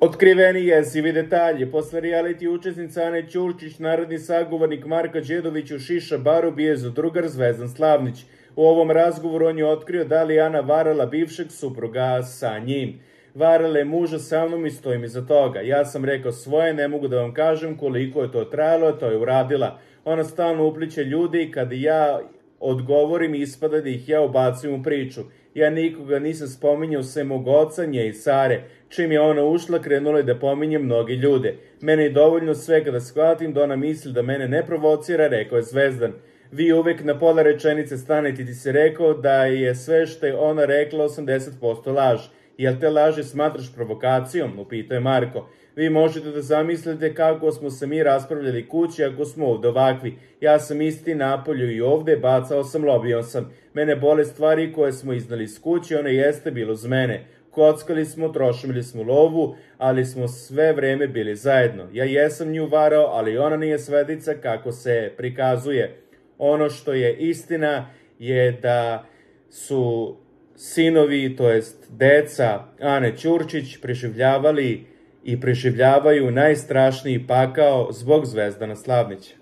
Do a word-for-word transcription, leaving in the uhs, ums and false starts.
Otkriveni jezivi detalji. Posle reality učesnica Ane Ćurčić, narodni sagovornik Marka Đedović u šiša baru bije za drugar Zvezdan Slavnić. U ovom razgovoru on je otkrio da li Ana varala bivšeg supruga sa njim. Varala je muža sa mnom i stojim iza toga. Ja sam rekao svoje, ne mogu da vam kažem koliko je to trajalo, to je uradila. Ona stalno upliće ljudi i kada ja odgovorim ispada da ih ja ubacim u priču. Ja nikoga nisam spominjao sem mog oca, nje i Sare. Čim je ona ušla, krenula je da pominje mnogi ljude. Mene je dovoljno sve kada shvatim da ona misli da mene ne provocira, rekao je Zvezdan. Vi uvek na pola rečenice stanete, ti si rekao da je sve što je ona rekla osamdeset posto laž. Jel te laži smatraš provokacijom? Upitao je Marko. Vi možete da zamislite kako smo se mi raspravljali kući ako smo ovde ovakvi. Ja sam isti napolju i ovde, bacao sam, lobio sam. Mene bole stvari koje smo iznali iz kuće, one jeste bilo uz mene. Kockali smo, trošili smo lovu, ali smo sve vreme bili zajedno. Ja jesam nju varao, ali ona nije svedica kako se prikazuje. Ono što je istina je da su sinovi, to jest deca Ane Ćurčić, preživljavali i preživljavaju najstrašniji pakao zbog Zvezdana Slavnića.